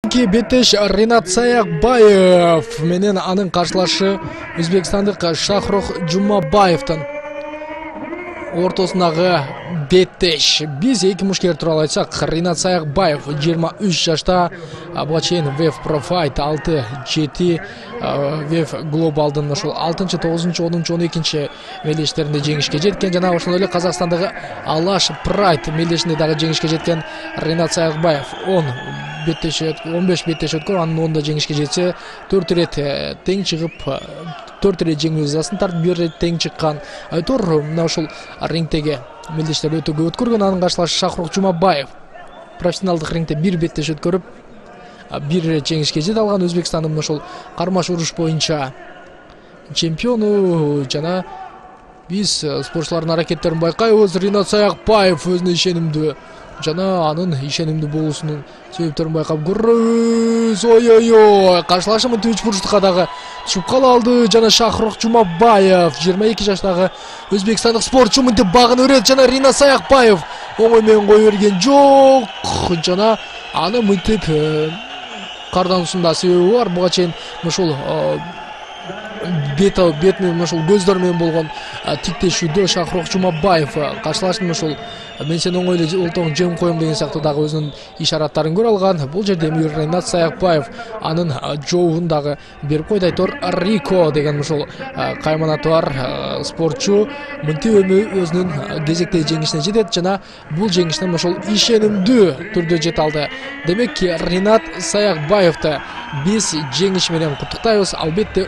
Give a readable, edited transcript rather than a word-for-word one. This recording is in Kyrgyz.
Беттеш Ринат Саякбаев менен анын каршылашы өзбекстандык Шахрух Жумабаевдин ортосундагы беттеш. Биз эки мушкер тууралуу айтсак, Ринат Саякбаев 23 жашта, буга чейин WEF Pro Fight 6-7 WEF Global'дын ошол 6-9, 10-12 мелдештеринде жеңишке жеткен, жана ошол эле Казакстандагы Алаш Pride мелдешинде дагы жеңишке жеткен Ринат Саякбаев 15 беттеш өткөн, анын 10да жеңишке жетсе, 4 ирет тең чыгып, 4 ирет жеңүү жазасын тартып, 1 ирет тең чыккан. Айтор мына ошол рингдеги мелдештер өтө көп өткөргөн. Анын каршылашы Шахрух Жумабаев профессионалдык рингде 1 беттеш өткөрүп, 1 ирет жеңишке жете алган. Өзбекстандын ошол кармаш уруш боюнча чемпиону, жана биз спортчулардын аракеттерин байкайбыз. Ринат Саякбаев өзүнө ишенимдүү, жана анын ишенимдүү болуусунун себептерин байкап көрөбүз. Ой, каршылашы мынтип 3 бурчтукка дагы түшүп кала алды, жана Шахрух Жумабаев 22 жаштагы өзбекстандык спортчу мынтип багын өрөт, жана Ринат Саякбаев оңой менен кое берген жок, жана аны мынтип кардануусунда себеби бар. Буга чейин ошол бет менен ошол көздөр менен болгон тиктешүүдө Шахрух Жумабаев каршылашын ошол мен сени оңой эле олтоң жеңип коем деген сыяктуу дагы өзүнүн ишараттарын көрө алган. Бул жерде Ринат Саякбаев анын жообун дагы берип койду. Айтор Рико деген ошол кайманаты бар спортчу мынтип өзүнүн кезектеги жеңишине жетет, жана бул жеңиштен ошол ишенимдүү түрдө жете алды. Демек, Ринат Саякбаевди биз жеңиш менен куттуктайбыз. Албетте